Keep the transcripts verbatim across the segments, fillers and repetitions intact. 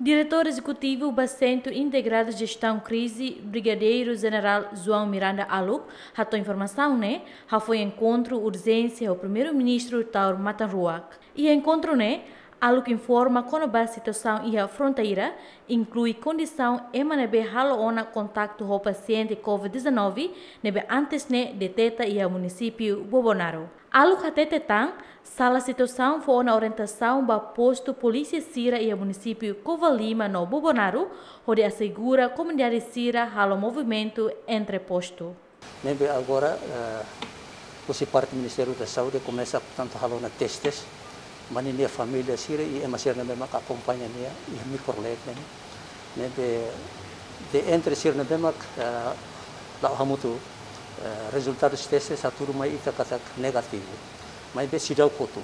Diretór Ezekutivu ba Sentru Integradu Jestaun Krize, Brigadeiru Jenerál João Miranda Aluk, hato'o informasaun ne'e hafoin enkontru urjénsia ho Primeiru-Ministru Taur Matan Ruak. Iha enkontru ne'e, Aluk informa kona-ba situasaun iha fronteira, inklui kondisaun ema ne'ebé halo ona kontaktu ho pasiente COVID dezanove ne'ebé antes ne'e deteta iha munisípiu Bobonaro. Aluk hatete tan, sala situasaun fó ona orientasaun ba postu polísia sira iha munisípiu Covalima no Bobonaro, hodi asegura komunidade sira halo movimentu entre postu. Ne'ebé agora, eh, husi parte Ministériu da Saúde komesa, portantu, halo ona testes ba ninia família sira i ema sira ne'ebé mak akompaña nia iha mikrolet ne'e. Ne'ebé de entre sira ne'ebé mak, eh, la'o hamutuk, eh, rezultadus testes hatudu mai ita katak negativu. Maibé seidauk hotu.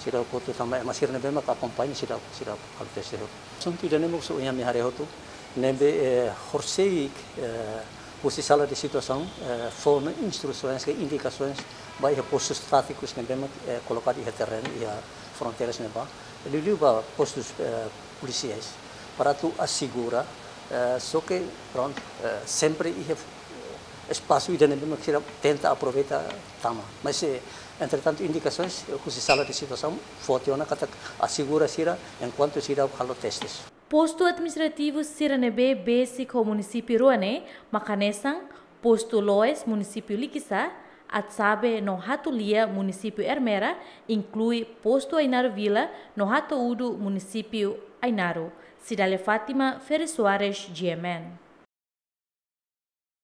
Seidauk hotu tanba ema sira ne'ebé mak akompaña seidauk, seidauk halo teste hotu. Asuntu ida-ne'e mós ohin ami haree hotu. Ne'ebé, eh, horisehik, eh, husi sala de situasaun, eh, fó ona instrusoens ka indikasoens ba iha postus tátikus ne'ebé mak, eh, kolokadu iha terrenu, iha fronteiras ne'ebá. Liuliu ba postus, eh, polisiais. Para atu asegura, eh, só ke, prontu, eh, sempre iha, eh, espasu ida ne'ebé mak sira tenta aproveita tama. Mas, eh, entretantu, indikasoens, eh, husi sala de situasaun fó tiha ona katak asegura sira enkuantu sira halo testes. Postu administrativu sira ne'ebé besik ho munisípiu rua ne'e mak hanesan, postu Loes, munisípiu Likisá, Atsabe no Hatulia, munisípiu Ermera, inklui postu Ainaro Vila no Hato'udu, munisípiu Ainaro. Cidália Fátima, Ferry Soares, G M N.